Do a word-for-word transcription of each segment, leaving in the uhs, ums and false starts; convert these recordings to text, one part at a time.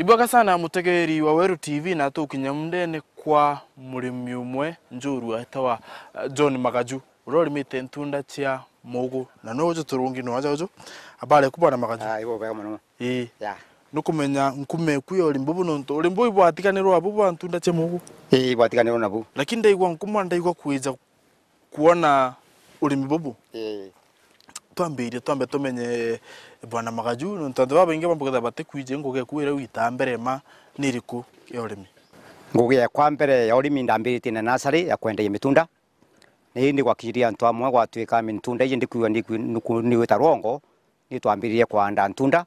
Bwega sana mutegeeri wa Weru T V, na tukinya mundene kwa murimi umwe njorua etawa, eh, John Magaju, uria urimite ntunda cia mugu, na no uju turungi no aja uju. Habari ku bwana Magaju? Ah, ibo bwega muno. Ii. Ya. Nukumenya nkume ku ya urimi bubu nontu urimi bubu ibwatiganirwa abu bwa ntunda cia mugu? Ii, ibwatiganirwa nabu. Lakini ndaigua nkuma, ndaigua kwija kwona urimi bubu. Ii. Twambirie, twambe tumenye bwana Magaju, nontu antu babaingi bambugetha batikwiji ngugi eku iria wita mbere ma ni iriku ya urimi? Ngugi yakwa mbere ya urimi ndambiritie na nasari ya kwendagia mitunda. Na indi gwakinyire antu amwe gwatuika mitunda iji ndikwigua ndiku-, nuku-, ni gwita rwongo, ni twambiririe kwanda ntunda.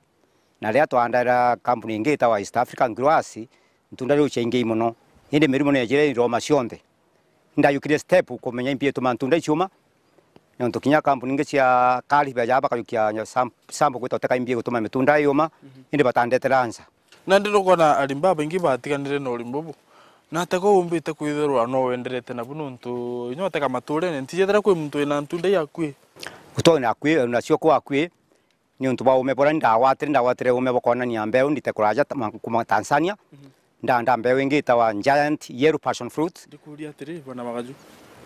Na riria twandaira kampuni ingi itawa East African Growers, ntunda riu ciaingi mono. Indi mirimu ni yajire iroma cionthe. Ndayukire step kumenya imbi ituma ntunda iciuma. Nontu kinya kampuni ingi cia Karibe ja bakajukia sam-, sample gwita uteka imbi gutuma mitunda yuma, indi batandetera nsa. Nandi nukwona arimi babaingi batiganire na urimi bubu. Na ata ko umbite kwithirwa no wenderete nabu nontu inya uteka maturene, ntijethira kwi muntu wina ntunda ii akui? Utona akui, nacio kwa akui, niuntu bwa ume buria ndagwatire, ndagwatire ume bwa kwonania mbeu ndite kuraja ta-, ma-, kuma Tanzania. Ndanda mbeu ingi itawa Giant Yellow Passion Fruit. Ndikuria atiri, bwana Magaju,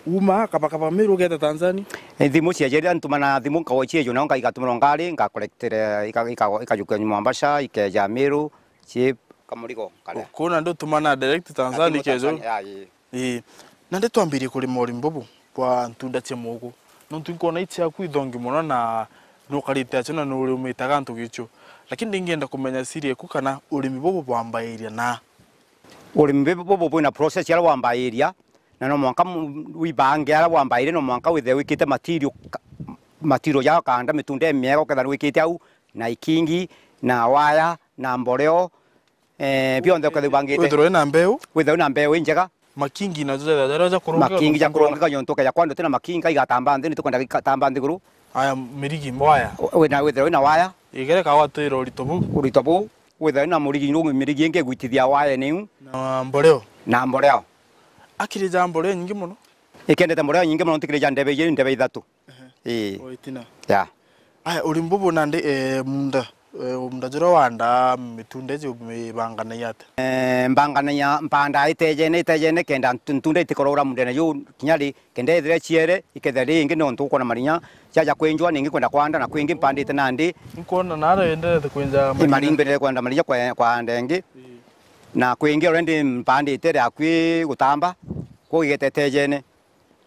uma kabakaba Meru ugeta Tanzania? E, thimu ciajaria ntumana thimu nkagwa ciejo, nao nka-, igatumira ngari, ngakolektire, ika-, ika-, ikajukia Mombasa, ikeja Meru, cie kamurigo karia. Kuna ndutumana direct Tanzania ikejo? Tanzania, ya, ii. Ii. Nandi twambirie kurima urimi bubu bwa ntunda cia mugu. Nontu inkwona ici ciaku ithongi mono na nukarite acio na nuriumite gantu gicio. Lakini ndingienda kumenya siri eku kana urimi bubu bwambairia na? Urimi bubu bwina process yaria wambairia, na no mwanka mu-, wibange aria wambairia, no mwanka withire wikite material ka-, material ja kanda mitunda imiega, ukethira wikite au na ikingi, na waya, na mboreo, eh, bionthe ukethira ubangite. Withirwe na mbeu. Withirwe na mbeu injega. Makingi najo jaria ja kurungika. Makingi ja kurungika, nontu ukeja kwanda utina makingi, igatamba nthi, ni tukwenda igatamba nthiguru. Aya, mirigi, waya. Wina, withirwe wina waya. Igereka watwira urito buu. Urito buu. Withirwe wina murigi, nu-, mirigi ingi igwitithia waya niu. Na mboreo. Na mboreo. Akiri ja mboreo nyingi mono. Ikendete mboreo nyingi mono, ntikiri ja ndebe ijiri, ndebe ithatu. Ehe. Ii. O itina. Ya. Aya, urimi bubu nandi, eh, munda, eh, munda juria wanda mitunda iji umibanganagia atia? Eh, mbanganagia, mpandaa itejene, itejene, kenda ntu-, ntunda itikorora mundene juu, kinya ri, kenda ithire ciere, ikethira ri ingi nontu ukwona marinya, jaja kwinjwa, ningi kwenda kwanda, na kwingi mpandite nandi. Nkwona nara enderete kwinja marinya. Imari mbere kwenda marinya kwa, kwanda ingi. Ii. Na kwingi already mpandite ri akui gutamba, kuu igete itejene.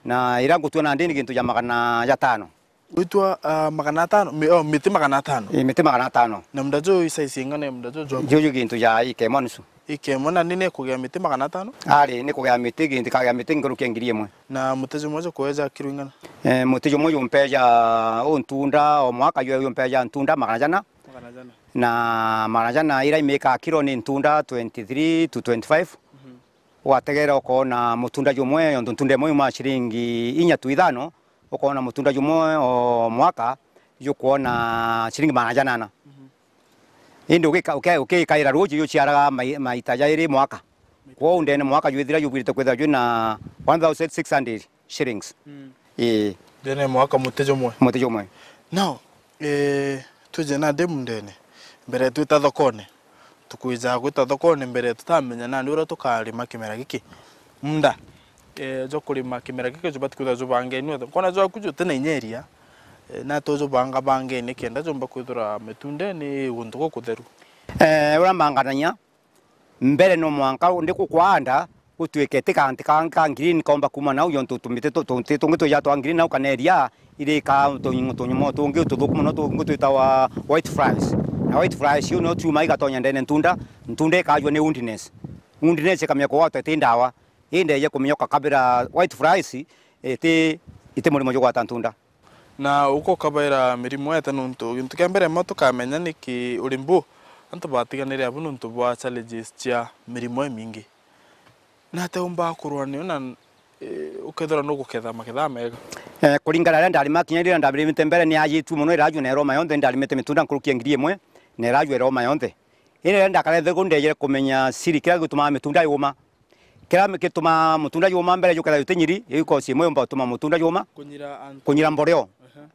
Na iria ngutua nandi ni gintu ja magana jatano. Gwitua, ah, magana atano? Mi-, oh, miti magana atano? Ii, miti magana atano. Na munda juju i size ingana ya munda juju jwaku? Juju gintu ja ika imwe nusu. Ika imwe, na ni nikugia miti magana atano? Ari, nikugia miti, gintu kagia miti nkuruki ya ngiri imwe. Na muti jumwe jukweja kiro ingana? Eh, muti jumwe jumpeja untunda, o mwaka ju-, jumpeja ntunda magana jana. Magana jana. Na magana jana iria imika kiro ni ntunda twenty-three to twenty-five. Mhm. Wategera ukoona mutunda jumwe, nontu ntunda imwe yuma ciringi inya tu ithano, ukoona mutunda jumwe o mwaka jukwona ciringi magana janana. Mhm. Indi ugika-, uke-, ukikaira ruuji juciaraga mai-, maita jairi mwaka. Kwou ndene mwaka jwithira jubwirite kwithira jwina one thousand six hundred shillings. Mm. Ii. Ndene mwaka muti jumwe. Muti jumwe. Now, eh, twije nandi mundene, mbere twita thokone, tukwija gwita thokone mbere tutamenya nandi uria tukarima kimera giki. Munda, eh, jwa kurima kimera giki jubati kwithirwa jubangeni wothe. Nkona jwaku juti na inya iria, eh, na tujubanga bangeni kenda jumba kwithirwa mitundeni guntu gukutheru. Eh, uria mbanganagia, mbere no mwanka ndi gukwanda, gutuike ti kanti kangi ka green kaumba kuuma nau, jontu tumiti tu-, tunti tungi twija twa green nau kana iria irika tunyi-, tunyumo tungi tuthuku mono tungi twitawa white flies. Na white flies iu no ciuma igatonya ndene ntunda, ntunda ikajua ni woundiness. Woundiness ikamenya kugwatwa iti ndawa. Indi ije kumenya ukakabira white flies, iti, iti murimo jugwata ntunda. Na uka ukabaira mirimo ete, nontu gintu kia mbere mwa tukamenya niki urimi bu antu batiganire abu nontu bwa challenges cia mirimo imingi. Na ate umbaa kurwa nio na, eh, ukethirwa nuguketha maketha mega? Eh, kuringana na riria ndarima kinya riria ndarimite mbere ni ajitue mono, irajua na iroma yonthe, ndarimite mitunda nkuruki ya ngiri imwe, na irajua iroma yonthe. Indi riria ndakarethirwe ndejere kumenya siri kiria gitumaga mitunda yuma. Kiria gitumaa mutunda juma mbere jukethira juti nyiri, iu cause imwe yumba gutuma mutunda juma. Kunyira antu. Kunyira mboreo. Ehe.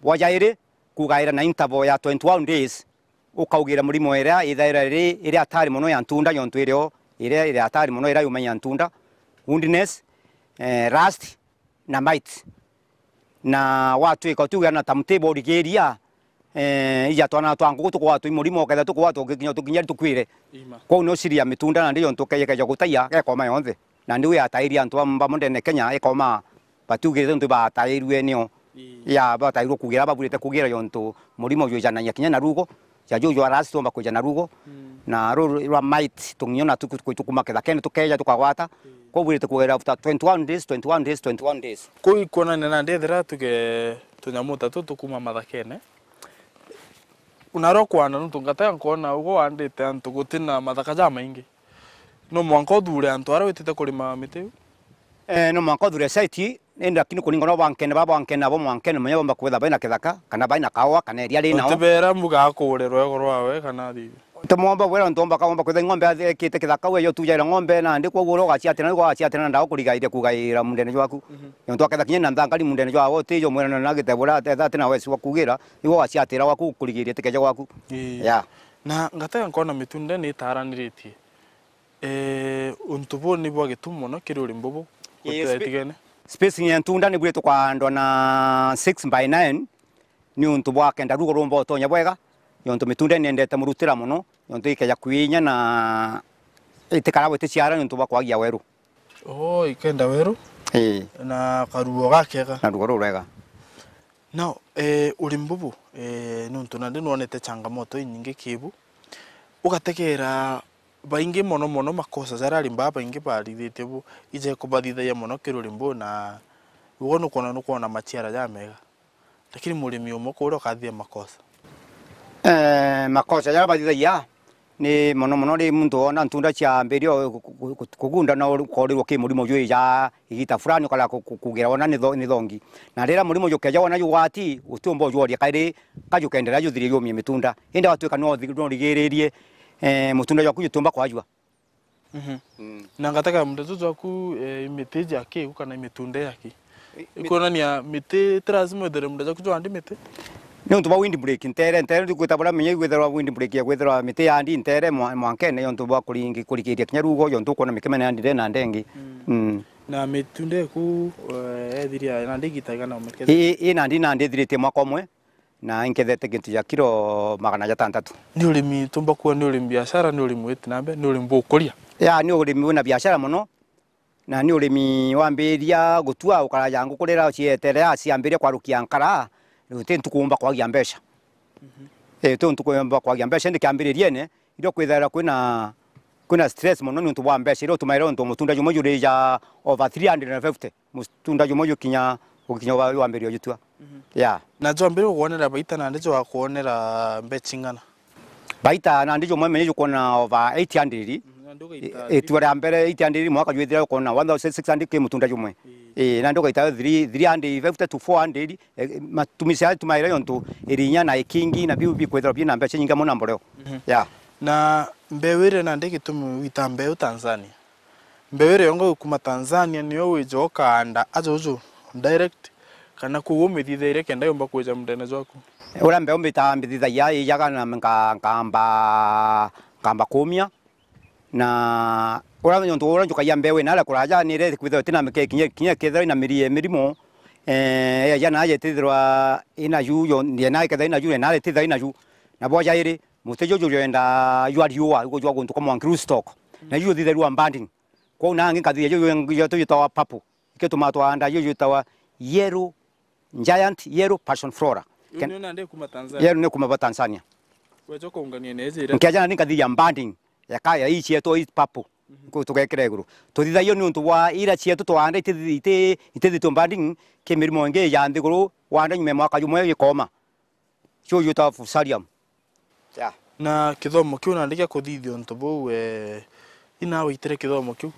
Bwa jairi, kugaira na interval ya twenty-one days, ukaugira murimo iria ithaira iri, iria hatari mono ya ntunda, yontu irio iria iri hatari mono iria yumenya ntunda, woundiness, eh, rust na mites. Na watwika utiugira na timetable urigiria, eh, ija twana twa nguku tukugwatwa i murimo, ukethira tukugwatwa ugikinya tukinya tukwire. Ima. Kwou ni uciria mitunda nandi yontu ukeja keja gutaia gekoma yonthe. Nandi wi atairia antu bamwe ndene Kenya ikoma batiugirite ntu batairue nio. Ii. Ya batairwe kugira babwirite kugira yontu murimo jwijanagia kinya na rugo. Ja juu jwa rust tuomba kwija na rugo. Mm. Na ruru rwa mites tung'io na tuku-, tuku-, tukuma kithakene tukeja tukagwata. Ii. Kwou bwirite kugira after twenty-one days, twenty-one days, twenty-one days. Kuu ikwonania nandi ethira tuge tunyamu ta tu tukuma mathakene. Unarwa kwanda nontu ngata nkoona ugo wandite antu gutina mathaka jamaingi. No mwanka uthure antu aria witite kurima miti iu? Eh, no mwanka uthure site, indi lakini kuringana na bwankene, baba bwankene nabo mwankene munya bomba kwitha baina kithaka, kana baina kaua, kana eria rinao. Utibera mbuga akure rwego rwawe kana athithi. Ti mwomba gwira ntu omba kaomba kwitha ng'ombe athi-, ekite kithaka, we yo tujaira ng'ombe nandi, kwou uria ugaciatira, niguo ugaciatira na ndawa kurigairia kugaira mundene jwaku. Mhm. Nontu aketha kinya na nthangari mundene jwawe, utijo mwira na gitebura, atetha ati na wesi wa kugira, niguo ugaciatira gwaku kurigiria tikeja gwaku. Ii. Yeah. Na ngatega nkona mitunda ni itaraniritie. Eh, untu buu ni bwa gitumi mono kiri urimi bubu. Yes, gutira spe-, itigene. Spacing ya ntunda ni bwire tukandwa na six by nine, ni untu bwa kenda rugo rumba utonya bwega, yontu mitunda ni yendete murutira mono, yontu ikeja kwinya na itikara gwiticiara ni untu bwa kwagia weru. Oh, ikenda weru. Ii. Na karuo gakega. Na rugo rurega. Now, eh, urimi bubu, eh, nontu nandi nwonete changamoto inyingi kibu, ugategera baingi mono mono makosa jaria arimi baa baingi barithitie bu, ije kubathithagia mono kiri urimi buu, na ugo nukwona, nukwona maciara jamega. Lakini murimi umwe kuria ukathithia makosa. Eh, makosa jaria bathithagia, ni mono mono ri muntu wona ntunda ciambiria ku-, ku-, ku-, kugunda na uri-, ukorirwo ki murimo jwija igita fulani ukara ku-, ku-, kugira wona ni tho-, ni thongi. Na riria murimo jukeja wona jugwati, utiumba ujworia kairi, ka jukenderea juthirie jumie mitunda. Indi watwika no uthi-, no urigiririe, eh, mutunda jwaku jutiumba kwajua. Mhm. Mm. Na ngataka munda juju jwaku, eh, imiti ja kiu kana imitunda ya ki? I-, mi- Ikwonania miti ti lazima withire munda jwaku jwandi miti? Ni untu bwa windbreak, ntere, ntere ndi kwita bura menye gwithirwa windbreak ya gwithirwa miti yandi ntere mwa-, mwankene yontu bwa kuringi-, kurikiria kinya rugo yontu ukwona mikemene yandi ndena ndengi. Mm. Mm. Na mitunda eku, eh, ethiria nandi igita igana umekethia? I, i, i nandi, nandi ithiritie mwaka umwe. Na inkethete gintu ja kiro magana jatantatu. Ni urimi tumba kuwa ni urimi biashara, ni urimi witi na mbere, ni urimi bukuria? Ya, ni urimi wina biashara mono, na ni urimi wambiria gutua ukaraja nguku riria cietere, ya, ciambiria kwarukia nkara, uti ntuku umba kwagia mbeca. Mhm. Eh, uti ntuku umba kwagia mbeca, indi kiambiririene, irio kwithaira kwina, kwina stress mono ni untu bwa mbeca, irio utumaira untu mutunda jumwe jurija over three hundred and fifty. Mutunda jumwe jukinya, gukinya wa-, wambiria jutua. Mhm. Yeah. Na jwambiria kukwonera baita nandi jwakwonera mbeca ing'ana? Baita nandi jumwe menye jukwona over eight hundred. Mhm, nandi ugaita i-, itua ria mbere eight hundred, mwaka jwithira ukwona one thousand six hundred ki mutunda jumwe. Ii. Ii, nandi ugaita three, three hundred fifty to four hundred, eh, matumizi ya tumaire yontu irinya na ikingi na biu bikwithirwa bina mbeca nyingi mono na mboreo. Mhm. Yeah. Na mbeu iria nandi gitumi wita mbeu Tanzania? Mbeu iria yonga gukuma Tanzania niyo wija ukaanda aja uju direct, kana kuu umithithiria kenda yumba kwija mundene jwaku? Uria mbeu mbita-, mbithithagia ijaga na nka-, nkamba, nkamba kumia. Na uria nontu uria njukagia mbeu inara kuraja ni iria kwithirwa itina mike-, kinya, kinya kethirwa ina miri-, mirimo, eh, ya naja itithirwa ina ju, yo, ya na ikethirwa ina ju, ya nara itithirwa ina ju. Na bwa jairi, muti juju jwenda jwa riua, igo jwa guntu kwa mwanki roof stock. Na ju juthithairwa banding. Kwou nangi nkathithia juju, juju jwitawa purple. Ikio tumaa twaanda juju jwitawa yellow giant, yellow passion flora. Ken-, nio nandi kuma Tanzania? Yellow ni kuma ba Tanzania. Weja kuungania neje ira? Nkeja nandi nkathithia banding ya ka-, ya ii cietu ii purple. Mhm. Ku-, tugekira iguru. Tuthithagia ni untu bwa ira cietu twaanda itithi-, iti-, itithitwe banding ki mirimo ingi ya nthiguru, waanda nyuma ya mwaka jumwe gikoma. Cio jwitawa fusarium. Yeah. Na kithomo kiu nandi gia kuthithia untu buu, eh, ina waitire kithomo kiu?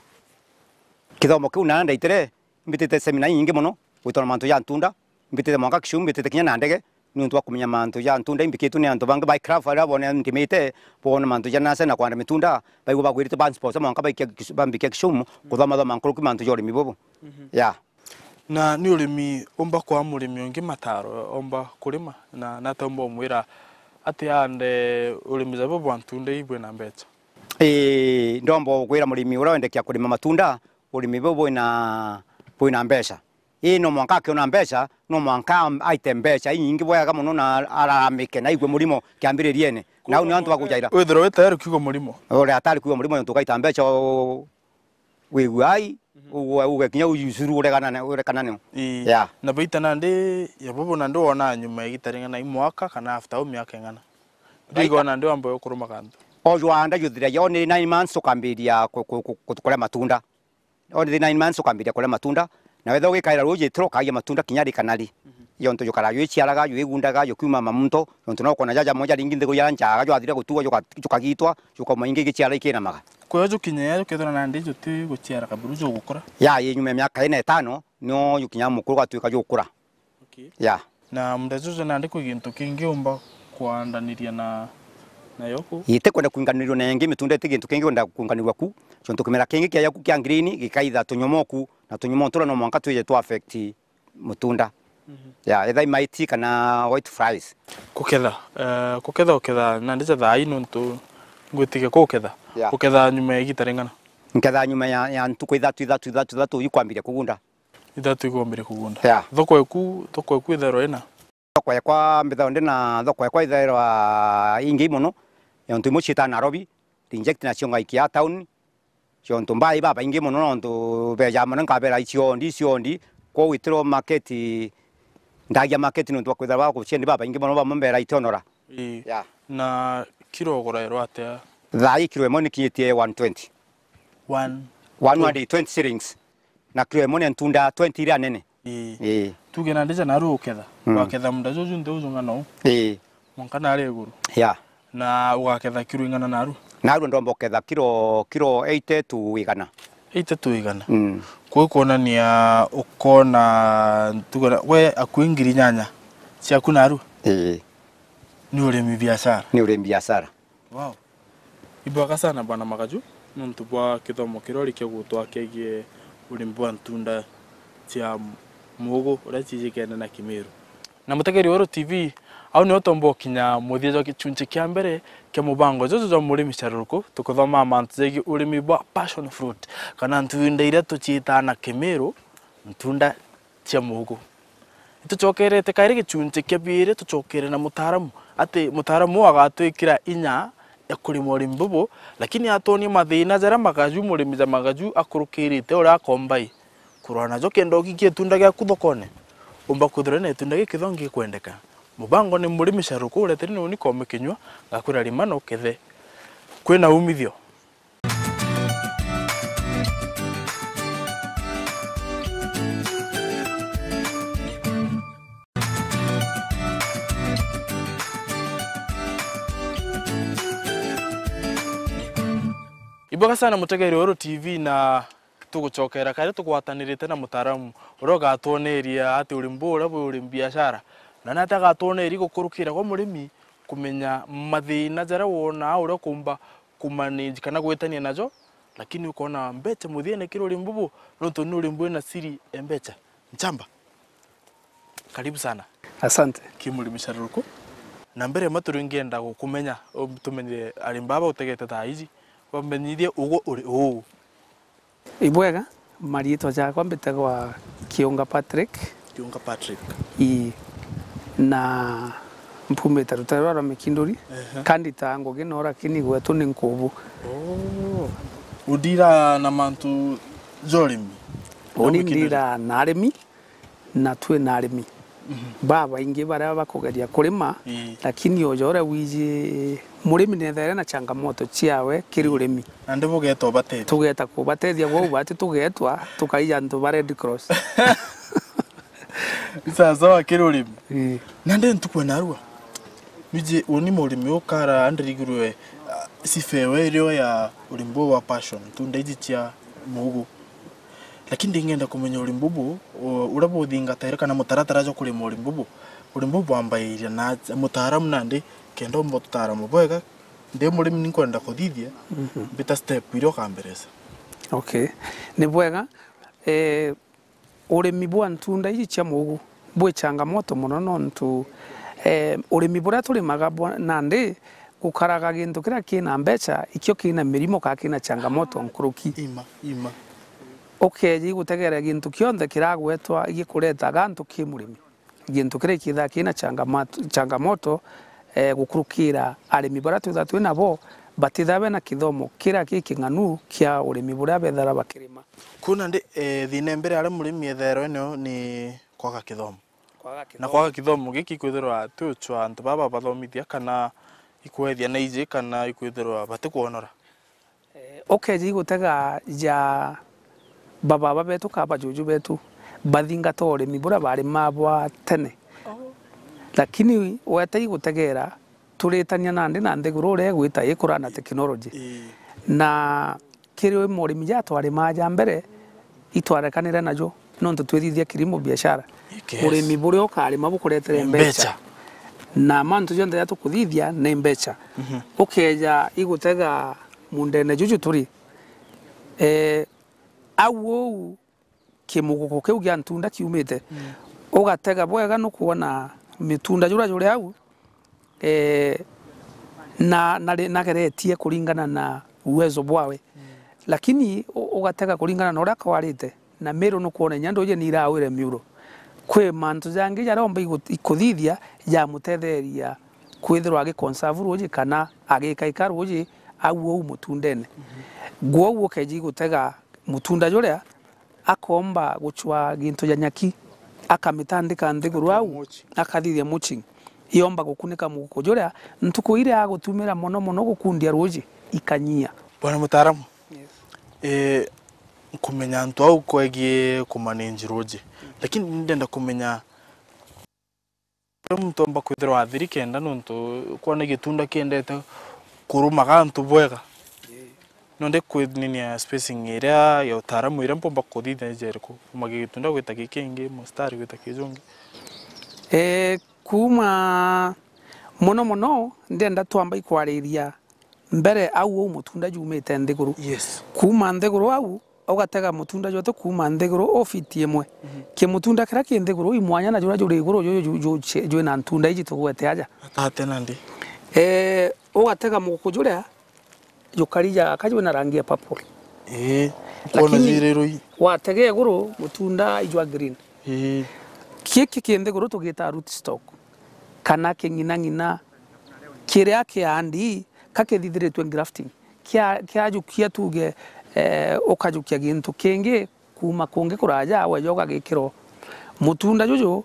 Kithomo kiu na ndaitire, mbitite semina inyingi mono, gwitwa na mantu ja ntunda, mbitite mwanka Kisumu, mbitite kinya na ndege, ni untu bwa kumenya mantu ja ntunda imbikitwe ni antu bangi ba craft aria bone ndimite, bone mantu ja nasa na kwanda mitunda, baigua bagwirite bansponsor mwanka baikia Kisu-, bambikia Kisumu, kuthoma thoma nkuruki mantu ja urimi bubu. Mhm. Yeah. Na ni urimi umba kwa murimi ungi mataro, omba kurima, na, na ata umba umwira Ati ande urimi ja bubu bwa ntunda ii bwina mbecha? Ii, ndomba gwira murimi uria wendekia kurima matunda, urimi buu bwina, bwina mbecha. Ii, no mwanka akiona mbecha, no mwanka am-, aite mbecha inyingi bwega mono na araramike na aigue murimo kiambiririene. Na au ni antu ba kujaira. Withirwa wi tayari kuigua murimo. Uria atari kuigua murimo, nontu ugaita mbecha u-, wiguai, ugue, uge kinya ucuru uregana na, urekana nio. Ii. Yeah. Na baita nandi ya bubu nandi wona nyuma ya igita ring'ana, i mwaka kana after au miaka ing'ana? Baita. Ndigona nandi wambe ukuruma kantu. Ojwa nda juthiragia, only nine months ukambiria ku-, ku-, ku-, ku-, kuria matunda. Only nine months ukambiria kuria matunda. Na wetha ugikaira ruji tiro ukagia matunda kinya rikana ri. Yontu jukara jwiciaraga, jwigundaga, jukiuma mamunto, yontu no kona jaja moja ringi nthiguru ya njaga, jwathira gutugwa, juka-, jukagitwa, jukoma ingi igiciara ikinamaga. Kwio jukinya ya jukethira nandi juti guciara kaburu jugukura? Ya, yi nyuma ya miaka ina itano, nio jukinya mukuru gwatuika jukura. Okay. Ya. Na munda juju nandi kwi gintu kingi umba kwandaniria na, nayo ku? Iti kwenda kwinganirua na ingi, mitunda iti gintu kingi kwenda kwinganirua ku. Jontu kimera kingi kia yaku kia green gikaitha tunyomo ku, na tunyomo turia no mwanka twije tu affect mutunda. Mhm. Ya, either mites kana white flies. Kuketha, eh, kuketha uketha nandi ja thaa ii nontu ngwitikia kuketha. Ya. Uketha nyuma ya igita ring'ana? Nketha nyuma ya, ya ntuku ithatu, ithatu, ithatu, ithatu ikwambiria kugunda. Ithatu igombire kugunda. Yeah. Thoko eku, thoko eku ithairwa ina? Thoko ekwa mbithairwa ndi na thoko ekwa ithairwa ingi mono, yontu imwe ciita Nairobi, reject nacio ngaikia town, yontu mbai babaingi mono, nontu beja mono nkabera icio ndi, icio ndi, kwou itiro market, ndagia market nontu bwa kwithirwa baguciendi babaingi mono, bamwe mbera itionora. Ii. Yeah. Na kiro ugurairwa atia? Thaa ii kiro imwe nikinyitie one twenty. One? One hundred twenty shillings. Na kiro imwe ni ntunda twenty iria nene. Ii. Ii. Tuge nandi ja naru uketha. Mm. Waketha munda juju nthi uju ng'ana u. Ii. Mwanka nari iguru. Yeah. Na ugaketha kiro ing'ana naru? Naru ndomba uketha kiro, kiro eighty to igana. Eighty to igana. Mm. Kwi kwonania ukona, tuge na, we akui ngiri nyanya ciaku naru? Ii. Ni urimi biashara? Ni urimi biashara. Wow. Ibwega sana Bwana Magaju, nontu bwa kithomo kiria urikia gutwa kiegie urimi bwa ntunda cia mugu uria cijikene na Kimiru. Na mutegeri wa Uru T V, au nio tumba ukinya muthia jwa gichunchi kia mbere kia mubango juju jwa Murimi Caruruku, tukithomaa mantu jegie urimi bwa passion fruit, kana ntunda iria tuciitaa na Kimiru, ntunda cia mugu. Itucokerete kairi gichunchi kia biiri, tucokere na mutaaramu, ati mutaaramu uu agatwikira inya ya kurima urimi bubu, lakini atwonie mathina jaria magaju, murimi ja magaju akurukirite uria akomba i kurwa najo kenda ugikia itunda giaku thokone, umba kwithirwa na itunda gikithongi gikwendeka. Mubango ni Murimi Caruruku ureteri ni uni Koome Kinyua, ngakwira rima na ukethe. Kwina umithio. Ibwega sana mutegeri wa Uru T V, na tugucokera kairi tugwatanirite na mutaaramu uria ugatwoneria ati urimi buu uria bwi urimi biashara, na ni atia agatwoneria gukurukira gwa murimi kumenya mathina jaria wonaa uria ukumba kumanage kana gwitania najo, lakini ukona mbecha muthiene kiri urimi bubu, nontu ni urimi bwina siri ya mbecha. Nchamba, karibu sana. Asante. Ki Murimi Caruruku. Na mbere ya matu ringi ngenda gukumenya, utumenyire arimi baba utegete thaa iji, bamenyithie ugu uri uu. Ibwega, mariitwa jakwa mbitagwa Kiunga Patrick. Kiunga Patrick. Ii. Na mpumite rutere rwa rwa Mikinduri. Ehe. Kandi ta ngugi no, lakini gwetu ni Nkubu. Oh. Udira na mantu ja urimi? Uni ndira na arimi, na twi na arimi babaingi baria bakugeria kurima, ii, lakini uja uria wiji murimi nethaire na changamoto ciawe kiri urimi. Nandi bugetwa batethia. Tugeta kubatethia, gwou bati tugetwa tukaija antu ba Red Cross. Ni sawa sawa kiri urimi. Ii. Nandi ntuku ya narua. Niji uni murimi ukara andirigirwe, ah, sifa ewe irio ya urimi buu wa passion, tunda iji cia mugu. Lakini ndingenda kumenya urimi bubu, u-, uria buthingataire kana mutaratara jwa kurima urimi bubu. Urimi bubu bwambairia na atia? Mutaaramu nandi, kenda umba ututaaramu bwega, ndi murimi ni nkwenda kuthithia, mhm, mbita step iria ukambereca. Okay. Ni bwega. Eh, urimi bwa ntunda iji cia mugu bwi changamoto mono, nontu Eh, urimi buria turimaga bwa-, nandi gukaraga gintu kiria kina mbeca, ikio kina mirimo kana kina changamoto nkuruki. Ima, ima. Ukeeja igutegera gintu kionthe kiragwetwa gikuretaga antu ki murimi. Gintu kiria ikithaa kina changamat-, changamoto, eh, gukurukira arimi baria twithaa twi nabo, batithaa bena kithomo kiria giking'anu kia urimi buria bethara bakirima. Kwou nandi, eh, thina mbere aria murimi ethairwe nio ni kwaga kithomo. Kwaga na kithomo. Kwaga kithomo giki ikwithirwa ti uchwa antu baba bathomithia kana ikwethia na iji kana ikwithirwa batikwonora. Eh, ukeeja igutega ja bababa betu kana bajuju betu, bathingata urimi buria barimaa bwa tene. Oh. Lakini weta igutegera, turitania nandi na nthiguru uria igwita ikura na teknoloji. Ii. Na kiri murimi ja twarimaa ja mbere, itwarekanire najo, nontu twithithia kilimo biashara. Yes. Urimi buria ukarima bukuretere mbeca. Mbeca. Na mantu jonthe ja tukuthithia ni mbeca. Mhm. Ukeeja igutega mundene juju turi, eh, au uu kimuguku kiu gia ntunda kiumite, mm, ugatega bwega nukwona mitunda juria juri au, eh, na, na ri-, nageretie kuringana na uwezo bwawe. Mm. Lakini u-, ugatega kuringana na uria kwarite, na miru nukwona inya nduji ni irawire miuro. Kwi mantu jangi jaria omba igu-, ikuthithia jamutetheria kwithirwa agiconserve ruuji kana agikaika ruuji au uu mutundene. Mhm. Gwou ukeeja igutega mutunda juria, akomba gucwa gintu ja nyaki, akamitandika nthiguru au, mulching, akathithia mulching. Yomba gukunika muguku juria, ntuku iria agutumira mono mono gukundia ruuji, ikanyia. Bwana mutaaramu, yes, eh, nkumenya antu au kwegie kumanage ruuji. Mm. Lakini ndenda kumenya uria muntu omba kwithirwa athiri kenda, nontu kwona gitunda kiendete kurumaga antu bwega. Ii. No ndi kwininia spacing iria ya utaaramu iria mpomba kuthithia ija iriku? Kuuma gitunda gwita gikingi, mustari gwita kijungi. Eh, kuuma mono mono, ndenda twamba ikwariria mbere au uu mutunda jumite nthiguru. Yes. Kuuma nthiguru au, ugatega mutunda jwete kuuma nthiguru u fiti imwe. Mhm. Kimutunda kiria ki nthiguru i mwanya na juria juri iguru ju-, ju-, ju-, jwina ntunda iji tugwete aja. Atate nandi? Eh, ugatega muguku juria jukari jaka jwina rangi ya purple. Ii, kwona. Lakini jirirui, watega iguru mutunda ijwa green. Ii. Giki ki nthiguru tugita root stock, kana king'inang'ina kiria kiandi ka kithithiritwe grafting. Kia-, kiajukia tuge, eh, ukajukia gintu kingi kuuma kungi kuraja, weja ugagikirwo. Mutunda juju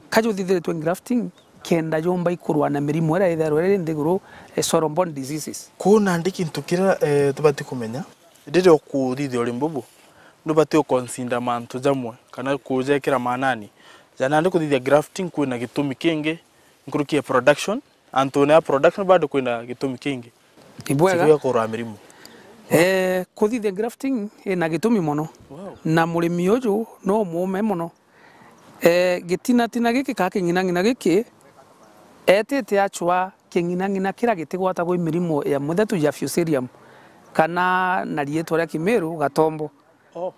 ka juthithiritwe grafting, kenda jumba ikurwa na mirimu iria ithairwe iri nthiguru, eh, soil-borne diseases. Kwou nandi gintu kiria, eh, tubati kumenya, riria ukuthithia urimi bubu, nubati uconsider mantu jamwe, kana kujekira maanani. Ja nandi kuthithia grafting kwina gitumi kingi nkuruki ya production, antune ya production bado kwina gitumi kingi. Ibwega. Siku ya kurwa mirimu. Eh, kuthithia grafting ina gitumi mono. Wow. Na murimi uju no muume mono. Eh, gitinatina giki ka king'inang'ina giki, etite acwa king'inang'ina kiria gitigwatagwa i mirimu ya muthetu ya Fusarium, kana na riitwa ria Kimiru, gatombo. Oh.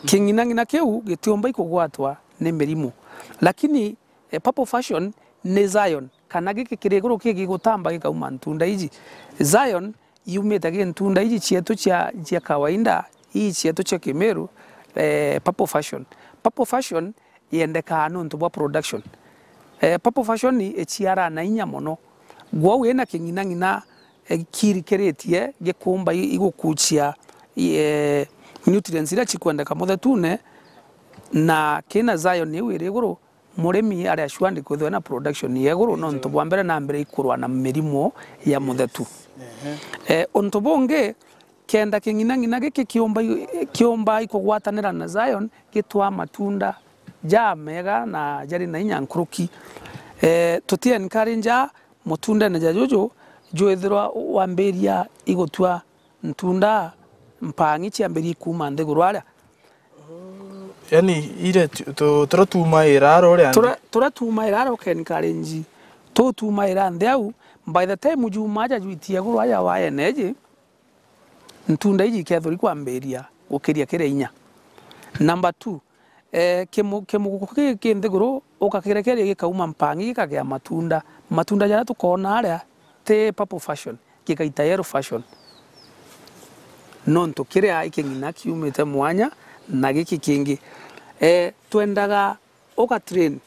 King'inang'ina kiu gitiumba ikugwatwa ni mirimu. Lakini, eh, Purple Passion ni Zion, kana giki kiri iguru ki gigutamba gikauma ntunda iji. Zion yumite gi ntunda iji cietu cia, cia kawaida, ii cietu cia Kimiru, eh, Purple Passion. Purple Passion yendekaa nontu bwa production. Eh, Purple Passion iciaraa na inya mono. Gwou ina king'inang'ina, eh, kirikiritie gikumba i-, igukucia, eh, nutrients iria cikwendeka muthetune, na kina Zion iu iri iguru, murimi ari assured kwithirwa na production ya iguru, nontu bwa mbere na mbere ikurwa na mirimu ya muthetu. Ehe. Eh, untu bungi, kenda king'inang'ina giki kiumba, kiumba ikugwatanira na Zion, gitwaa matunda jamega na jari na inya nkuruki. Eh, tuti encourage mutundene ja juju jwithirwa wambiria igutua ntunda mpang'i ciambirie kuuma nthiguru aria. Yani, ire tu-, tu-, turia tuumaira ara uria nthi. Turia, turia tuumaira ara ukencourage, tu tuumaira nthi au, by the time juuma aja jwitie iguru aja wa energy, ntunda iji ikethirwa ikwambiria gukiria kiria inya. Number two, Eh, kimu-, kimuguku giki ki nthiguru, ukakirekeria gikauma mpang'i gikagea matunda. Matunda jaria tukoona aria ti purple fashion, gikaita yellow fashion. Nontu kiria i king'ina kiumite mwanya na giki kingi. Eh, twendaga uga train,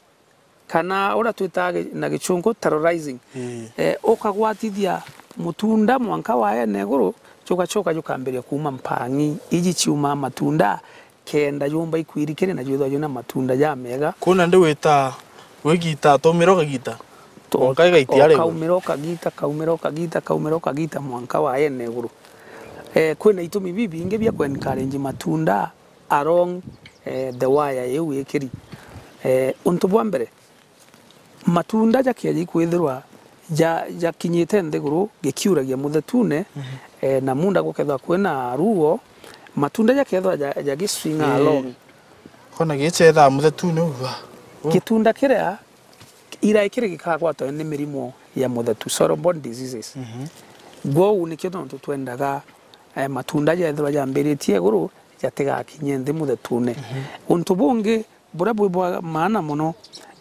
kana uria twitaga gi-, na gichungu terrorizing. Ii. Eh, ukagwatithia mutunda mwanka waene iguru, jugacoka jukambiria kuuma mpang'i iji ciumaa matunda, kenda jumba ikwirikiri na jwithwa jwina matunda jamega. Kuna ndi wita wigita, tumira ukagita. Tu-, Mwanka igaitia ari iguru. Ukaumira ukagita, kaumira ukagita, kaumira ukagita mwanka waene iguru. Eh, kwina itumi bibingi bia ku encourage matunda along, eh, the wire iu ikiri. Eh, untu bwa mbere, matunda jakeeja ikwithirwa ja-, jakinyite nthiguru, gikiuragia muthetune, mhm, eh, na munda gukethwa kwina ruo, matunda jakethwa ja-, jagiswinga, ii, along. Kona gicethaa muthetune uu, wa. U. Gitunda kiria irai kiri gikagwatwa ni mirimo ya muthetu, soil-borne diseases. Mhm. Gwou nikio tontu twendaga, eh, matunda jethirwa jambiritie iguru, jatigakinye nthi muthetune. Mhm. Untu bungi buria bwi bwa maana mono,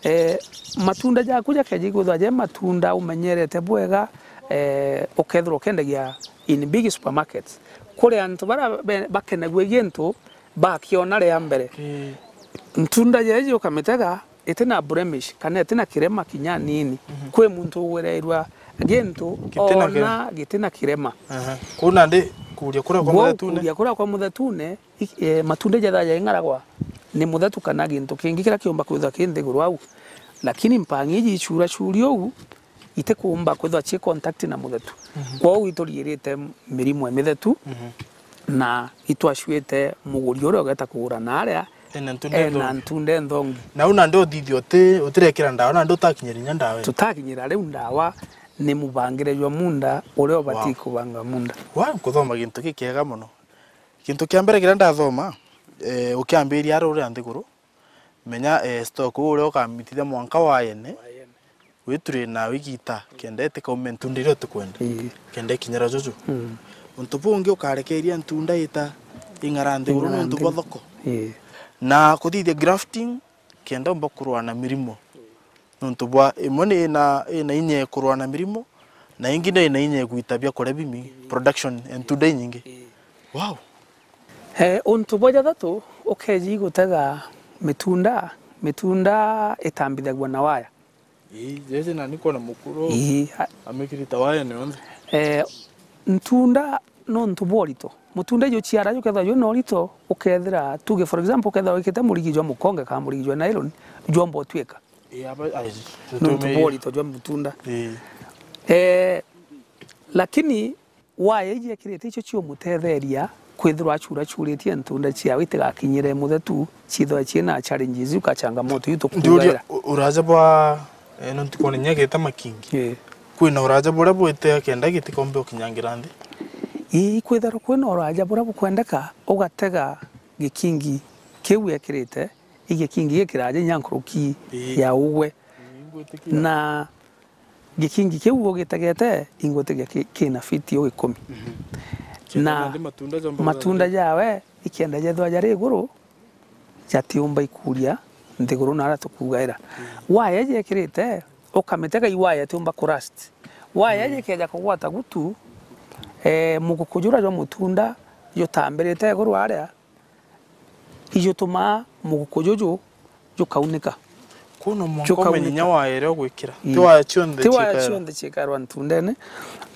eh, matunda jaku jakeeja ikwithirwa je matunda umenyerete bwega, eh, ukethirwa ukendagia in big supermarkets. Kuri antu baria be-, bakenagua gintu bakiona ria mbere. Ii. Ntunda jeeji ukamitega, itina blemish, kana itina kirema kinya nini. Mhm. Kwi muntu ugwirairwa gintu, gitina kirema, ona gitina kirema. Aha. Kuu nandi kuuria kuria kwa, gwou muthetune? Kuuria kuria kwa muthetune, i-, eh, matunda jethaa jaing'aragwa ni muthetu kana gintu kingi kiria kiumba kwithwa ki nthiguru au. Lakini mpang'i iji icuuracuri uu, itikuumba kwithwa cii contact na muthetu. Mhm. Kwou ituriirite mirimo imithetu, mhm, na itwacuite muguri uria ugeta kugura naaria ena ntunda, ena nthongi, ntunda nthongi. Na u nandi uthithia uti-, utirekira ndawa, nandi utakinyira inya ndawa ii? Tutakinyira riu ndawa, ni mubangire jwa munda uria ubatii, wow, kubanga munda. Wa, nkuthoma gintu gikiega mono. Gintu kia mbere kiria ndathoma, eh, ukiambiria ari uria nthiguru, menya, eh, stock uu uria ukamitithia mwanka waene, witurain na wigita, kenda itikaume ntunda iria utikwenda. Ii. Kenda ikinyira juju. Mm. Untu bungi ukarekeria ntunda ita ing'ara nthiguru, ing'ara nontu bwa nthiguru, thoko. Ii. Na kuthithia grafting, kenda umba kurua na mirimo. Nontu bwa imwe ni ina, ina inya ya kurua na mirimo, na ingi ni ina inya ya gwita biakuria bimingi, production ya ntunda inyingi. Ii. Wow. Eh, untu bwa jathatu, ukeeji gutega mitunda, mitunda itambithagua na waya. Ii, jeje nani kwona mukuru, ii, a- amikirita waya ni onthe. Eh, ntunda nontu bwa urito. Mutunda juciara jukethirwa jwina urito, ukethira, tuge for example, ukethirwa wikite murigi jwa mukonge kana murigi jwa nylon, jwomba utwika. Ii, aba, ai, nontu bwa urito jwa mutunda. Ii. Eh, lakini waya iji ekirite icio ciumutetheria kwithirwa acuracuritie ntunda ciawe itigakinyire muthetu, ciithirwa ciina challenges iu ka changamoto iu tukuugaira. Ndiuria, u-, uraja bwa, eh, nontu kwona inya gita makingi. Ii. Kwina uraja buria bwite kenda gitikombe ukinyangira nthi? Ii, kwithirwa kwina uraja buria bukwendeka, ugatega gikingi kiu ekirite, i gikingi gikiraja inya nkuruki, ii, ya ugwe. Ii, ngwitikia. Na gikingi kiu ugitegete, ingwitikia ki-, kina fiti ugikumi. Mhm. Kenda na nandi matunda jomba matunda gutharia jawe, ikenda jethwa jari iguru, jatiumba ikuria nthiguru naria tukuugaira. Mm. Waya jekirite, ukamitega i waya itiumba kurust. Waya, mm, jikeja kugwata gutu, eh, muguku juria jwa mutunda jutambirite iguru aria, ijutumaa muguku juju jukaunika. Kwona mwanka umenye inya waya iria ugwikira. Ii. Ti waya cionthe, ti waya cikarwa, cionthe cikarwa ntundene,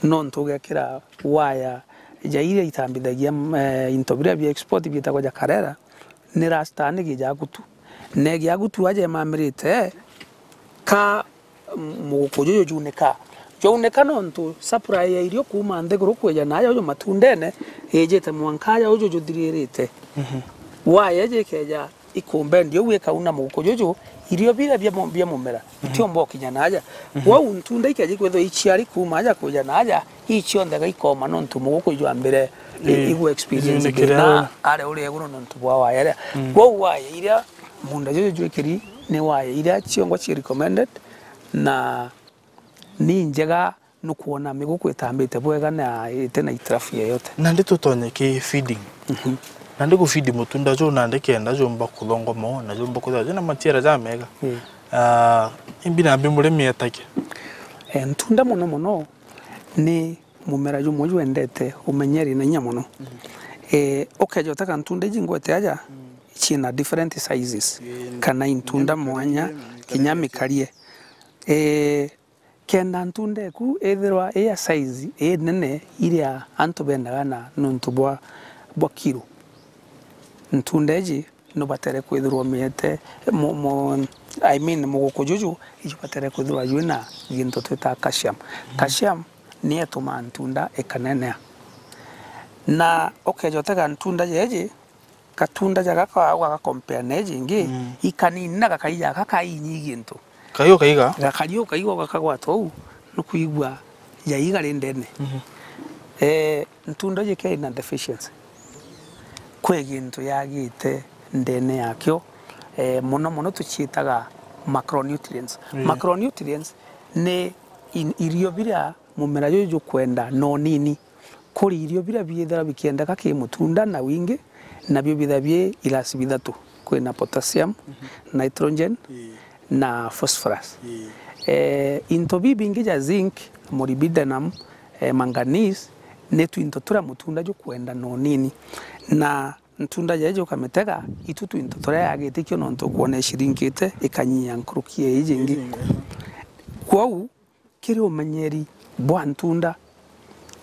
nontu ugekira waya ja iria itambithagia, eh, into biria bia export biitagwa ja karera, ni rasta ni gijagutu. Na giagutu aja imamirite, ka muguku juju junika. Jwaunika nontu supply ya irio kuuma nthiguru kwija naaja uju matundene, ijite mwanka aja uju juthiririte. Mhm. Waya jikeja ikumbendi ugu ikauna muguku juju, irio biria bia mu-, bia mumera, mhm, itiumba ukinya naaja. Mhm. Kwou ntunda ikeja ikwithwa iciari kuuma aja kwija naaja, ii cionthe gaikoma nontu muguku ijwambire i-, ii, igu experience ijunikire thina au. Aria uri iguru nontu bwa waya iria. Mm. Kwou waya iria munda juju jwikiri ni waya iria ciongwa ci recommended, na ni njega nukwona miguku itambite bwega na iti na itirafu yeyote. Nandi tutonye ki feeding. Mhm. Nandi ku feed mutunda juu nandi kenda jumba kuthongoma na jumba kwithirwa jina maciara jamega. Mm. Ah, imbi nambi murimi etage? Eh, ntunda mono mono ni mumera jumwe jwendete umenyeri na inya mono. Mm. Eh, ukeja utega ntunda iji ngwete aja, mm, ciina different sizes, mm, kana intunda mwanya, kinya mikarie. Eh, kenda ntunda eku ithirwa i ya size inene iria antu bendaga na nuntu bwa, bwa kiro, ntunda iji nubatere kwithirwa umiete, mu-, mu-, I mean, muguku juju ijubatere kwithirwa jwina gintu twitaga calcium. Mhm. Calcium ni itumaa ntunda ikanenea. Na ukeja utega ntunda jeji, gatunda ja gaka wagakompea na iji ingi, mm, ikanini na gakai ja gaka kainyi gintu. Kaiu kaiga? Gakari ukaiga gakagwata uu, nukwigua jaiga ri ndene. Mhm. Eh, ntunda iji kena deficiency. Kwi gintu yagite ndene yakio, eh, mono mono tuciitaga macronutrients. Mm. Macronutrients ni in-, irio biria mumera juju jukwenda na unini. Kuri irio biria biithirwa bikiendeka ki mutunda na wingi, nabio bithirwa bi ilasi bithatu. Kwina potassium, mhm, nitrogen, ii, na phosphorus. Ii. Eh, into bibingi ja zinc, molybdenum, eh, manganese, ni twinto turia mutunda jukwenda na unini. Na ntunda jeji ukamitega, itu twinto turia yagitikio nontu ukwona icirinkite, ikanyia nkuruki ya iji ingi. Ii. Kwou, kiri umenyeri bwa ntunda,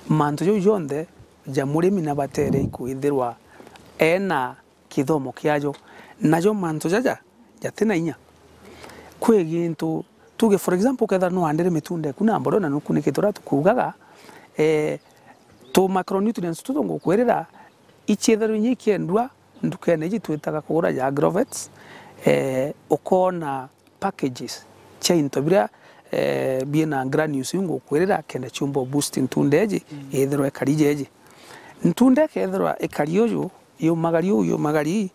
mantu jau jonthe ja murimi nabatere ikwithirwa ena kithomo kiajo. Najo mantu jaja jatina inya. Kwi gintu, tuge for example, ukethira nuandire mitunda eku na mbodo na nukunikite uria tukuugaga, eh, tu macronutrients tutu ngukwirira, ichiithirwa inya ikiendua ndukene iji twitaga kugura ja Agrovets, eh, ukoona packages cia into biria, eh, biina granules iu ngukwirira kenda ciumba boost ntunda iji, mm, ithirwa ikari jeji. Ntunda ikethirwa ikari uju, yumagari uu, yumagari ii,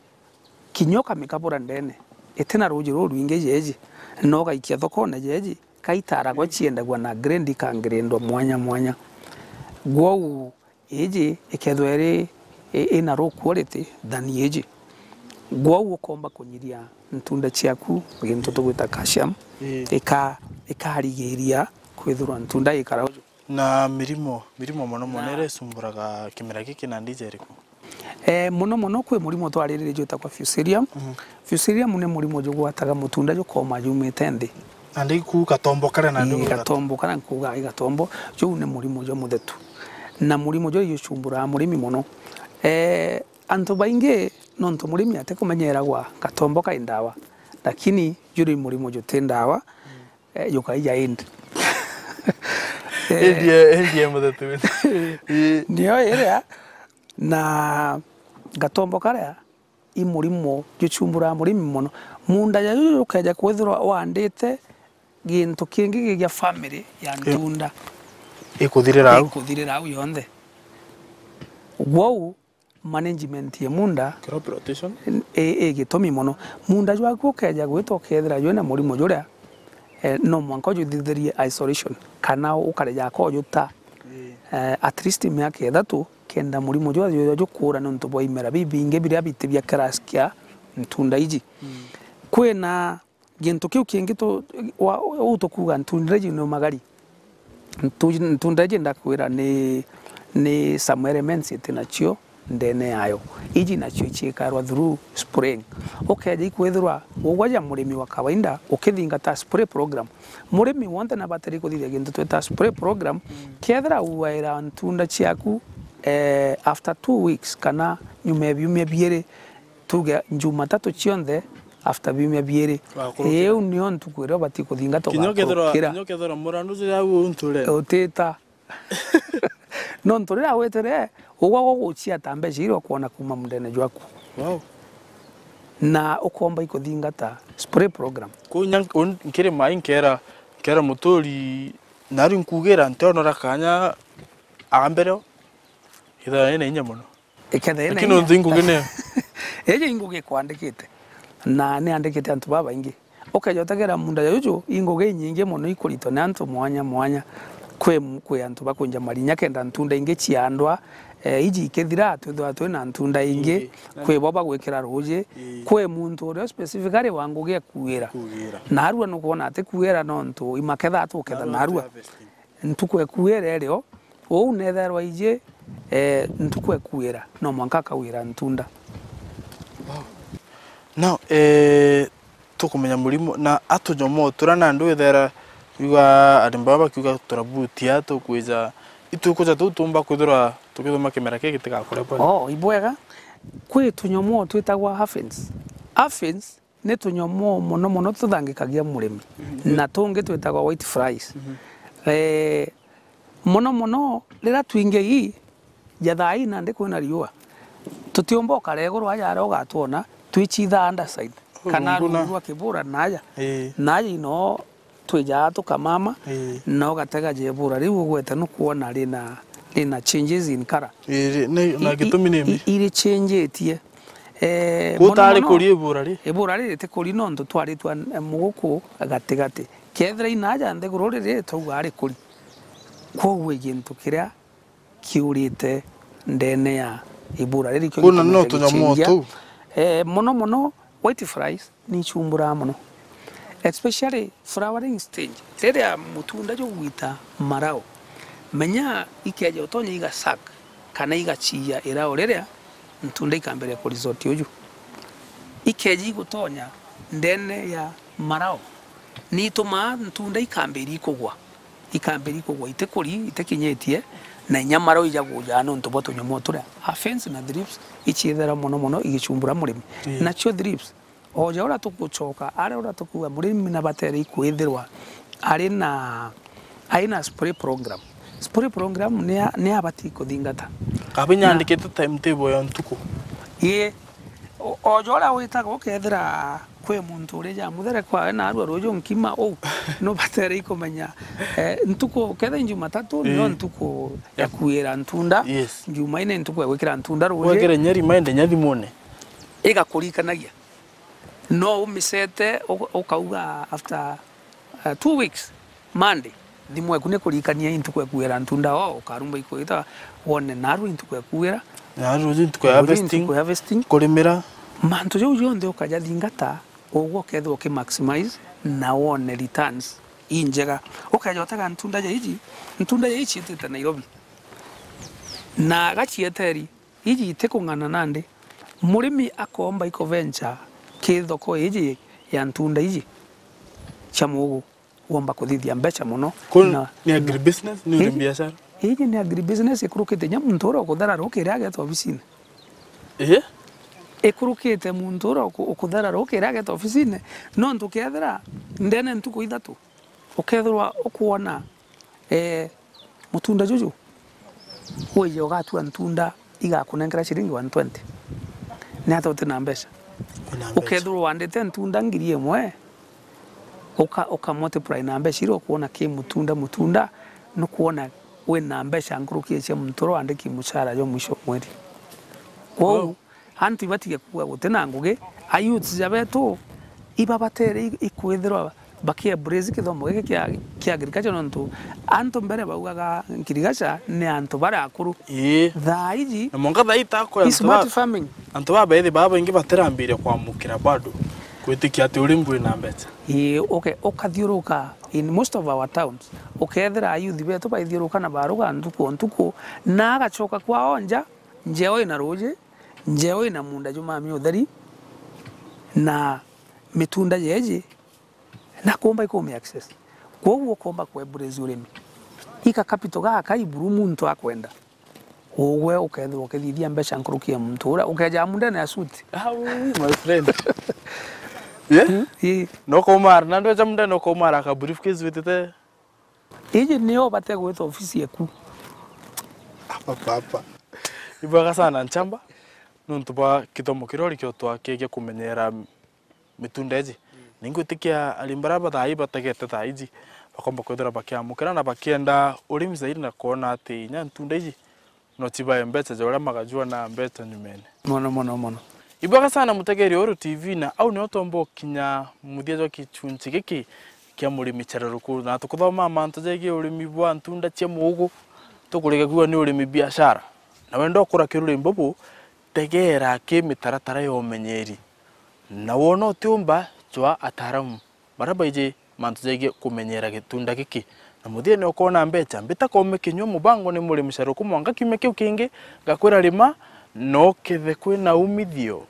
kinya ukamikabura ndene, itina ruuji rurwingi jeji, na ugaikia thokone jeji, kaitaragwa ciendagua na grade ikangirindwa mwanya mwanya. Gwou iji ikethirwa iri i-, ina low quality than iji, gwou ukomba kunyiria ntunda ciaku gintu tugwita calcium, ii, ika-, ikarigiria kwithirwa ntunda ikara uju. Na mirimo, mirimo mono mono, na, iria isumburaga kimera giki na ndija iriku? Eh, mono mono kwi murimo twariririe jwitagwa Fusarium. Mhm. Fusarium ni murimo jugwataga mutunda jukoma jumite nthi. Nandi ku gatombo karia nandi. Ii, gatombo karia nkuuga i gatombo, juu ni murimo jwa muthetu. Na murimo juu jucumburaga murimi mono. Eh, antu baingi nontu murimi atikumenyeragwa gatombo kai ndawa, lakini juri murimo juti ndawa, eh, jukaija indi. Eh, indi e, indi e muthetu. Ii. Nio iria, na gatombo karia i murimo jucumburaga murimi mono. Munda ja juju jukeja kwithirwa waandite gintu kingi gi gia family ya, ii, ntunda, ikuthirira au, ikuthirira au yonthe. Gwou management ya munda, crop rotation, i, i gitumi mono. Munda jwaku ukeja gwita ukethira jwina murimo juria, eh, no mwanka ujuthithirie isolation, kana ukare jako ujuta, ii, eh, at least miaka ithatu, kenda murimo jwa, jwa, jukura nontu bwa imera bibingi biria biti bia class kia ntunda iji. Mm. Kwina gintu kiu kingi tu-, wa, uu tukuuga ntunda iji ni umagari. Ntu-, ntunda iji ndakwira ni, ni some elements iti nacio ndene yayo. Iji nacio iciikarwa through spraying. Ukeja ikwithirwa ugwe ja murimi wa kawaida ukithingata spray program. Murimi wonthe nabatiri kuthithia gintu twita spray program. Mm. Kethira uaira ntunda ciaku, eh, after two weeks kana nyuma ya biumia biiri, tuge Jumatatu cionthe after biumia biiri. Wakurukira. Iu nio ntuku iria ubati kuthingata. Kinya ukethirwa, ugakurukira, kinya ukethirwa murandu jira au unture. Utita. Nontu riria witire, ugwa guguciata mbeca iria ukwona kuuma mundene jwaku. Wow. Na ukomba ikuthingata spray program. Kuu nya nk-, un-, nkiri mai nkera, nkera muturi, nari nkugira ntionora kanya ambere, ithira ina inya mono. Ikethira ina inya. Lakini unthi ngugi niyo. Iji ingugi ikwandikite. Na niandikite antu babaingi. Ukeja utegera munda ya juju, ingugi inyingi mono ikuritwa ni antu mwanya mwanya. kwi, kwi antu bakwinja marinya kenda ntunda ingi ciandwa, eh, iji ikithira, twithirwa twina ntunda ingi, ingi. Kwi bo bagwikira ruuji, ii, kwi muntu uria specifically wa ngugi ekuira. Kugira. Narua nukwona ati kuira nontu imaketha tuketha narua, narua. Ntuku ekuira irio, uu netherwa iji, eh, ntuku ekuira, no mwanka akawira ntunda. Wow. Now, eh, tukumenya murimo, na atunyomoo turia nandi withera yuga arimi baba bakiuga turabutia, tukwija, itukuja tuu tumba kwithirwa tukithuma kimera kii gitigakure bwega. Oh, ibwega. Kwi tunyomoo twitagwa aphids. Aphids ni tunyomoo mono mono tuthangikagia murimi. Mhm. Na tungi twitagwa white flies. Mhm. Eh, mono mono riria twingi ii, ja thaa ii nandi kwina riua, tutiumba ukara iguru aja aria ugatwona, twicithaa underside. Kana rungu rwa kibura naja. Ii. Naja ino twijaa tukamama, ii, na ugatega ja ibura riu ugwete nukwona rina, rina changes in color. Iri, ni, na i-, i-, gitumi ni i-, iri changetie. Eh, mono mono, kuri ibura ri? Ibura riri ti kuri nontu twaritwa n-, muguku gatigati. Kethira inaja nthiguru riri, twauga ari kuri. Kwoguo i gintu kiria kiurite ndene ya ibura riri kio. Kuna gitumaga no tunyamu gicenjia. Tuu. Eh, mono mono, white flies ni icumburaga mono. Especially flowering stage. Riria mutunda jugwita marao, menya ikeja utonya iga suck kana igaciia irao riria ntunda ikambiria ku resort uju. Ikeja igutonya ndene ya marao, ni itumaa ntunda ikambiria ikugwa. Ikambiria ikugwa itikuri, itikinyitie, na inya marao ija kujaa nontu bwa tunyamu turia. Aphids na thrips iciithira mono mono igicumbura murimi. Ii. Nacio thrips, o ja uria tugucoka, aria uria tukuuga murimi nabatere ikwithirwa ari na, ari na spray program. Spray program ni a-, ni abati kuthingata. Kaba inyandikite timetable ya ntuku. Ii. O, o ja uria witaga ukethira kwi muntu uri ja mutheri kwawe na arua ruuju nkima uu, nubatere ikumenya, eh, ntuku, kethira i Jumatatu, nio, ii, ntuku ya, ya kuira ntunda. Yes. Jumaine ntuku ya gwikira ntunda ruuju. Wekire inya reminder inya thimune. Igakurikanagia. No umicete, u-, ukauga after, uh, two weeks, Monday, thimu eku ni kurikania i ntuku ya kuira ntunda, o, ukarumba ikwita, wone narua i ntuku ya kuira. Narua i ntuku ya harvesting. Ntuku ya harvesting. Kurimira. Mantu jau jonthe ukajathingata, ugwe ukethirwa uki maximize na wone returns injega. Ukeja utega ntunda ja iji, ntunda ja iji ciitite Nairobi. Na gacieteri, iji itikung'ana nandi. Murimi akoomba iko venture ki thoko iji ya ntunda iji cia muugu, womba kuthithia mbeca mono. Kuu na, ni agribusiness, ni uri, iji, biashara? Iji ni agribusiness ikurukite inya muntu uria ukuthera ruki iria ageta obisine. Ii? Ikurukite muntu uria uku-, ukuthera ruki iria ageta obisine, nontu ukethira ndene ntuku ithatu, ukethirwa ukwona, eh, mutunda juju, wije ugatua ntunda igakunenkera ciringi one twenty. Ni ata uti na mbeca? Wina mbeca. Ukethirwa wandite ntunda ngiri imwe, uka, uka multiply na mbeca iria ukwona ki mutunda, mutunda, nukwona wina mbeca nkuruki cia muntu uria wandiki mucara jwa mwisho wa mweri. Kwou, wow. Antu ibatige kuuga guti na ngugi, a youths ja betu ibabatere i-, ikwithirwa baki embrace kithomo giki kia, kia agriculture, nontu antu mbere baugaga agriculture ni antu baria akuru. Ii. Thaa iji, na mwanka thaa ii takwe, i antu smart ba-, farming. Antu babethi baba baingi batirambiria kwamukira bado, gwitikia ati urimi bwina mbeca. Ii, uke-, ukathiuruka in most of our towns, ukethira a youth betu baithiuruka na baruga ntuku o ntuku, na agacoka kwao nja, njeo ina ruuji, njeo ina munda jumami utheri, na mitunda jeji, na kuumba ikumi access. Kwoguo ukomba kwe embrace urimi. Ika capital gaka iburu muntu akwenda. Ugwe ukethirwa ukithithia mbeca nkuruki ya muntu uria ukeja mundene ya suit. Ah, ui, my friend. Yeah? Mm, ii. No kumara, na ndweja mundene no kumara ka briefcase witite. Iji nio ubate gwita ofisi eku. Apa, apa. Ibwega sana nchamba, nontu bwa kithomo kiria urikio twakigia kumenyera mitunda iji. Mm. Ningwitikia arimi baria ba thaa ii bategete thaa iji, bakomba kwithira bakiamukira na bakienda urimi zaidi na kwona ati inya ntunda iji no cibae mbeca ja uria magajua na mbeca nyumene. Mono, mono, mono. Ibwega sana mutegeri Uru T V, na au nio twomba ukinya muthia jwa kichunchi giki kia murimi caruruku, na tukuthomaa mantu jegie urimi bwa ntunda cia muugu, tukurigagua ni urimi biashara. Na wenda ukura kiruri mbubu, tegeera ki mitaratara ya umenyeri. Na wona utiumba, cwaa ataaramu baria baiji mantu jegie kumenyera gitunda giki. Na muthiene ukoona mbeca, mbita kome kinyua mubango ni murimi caruruku mwanka kiumia kiu kingi, ngakwira rima, na ukethe kwina umithio.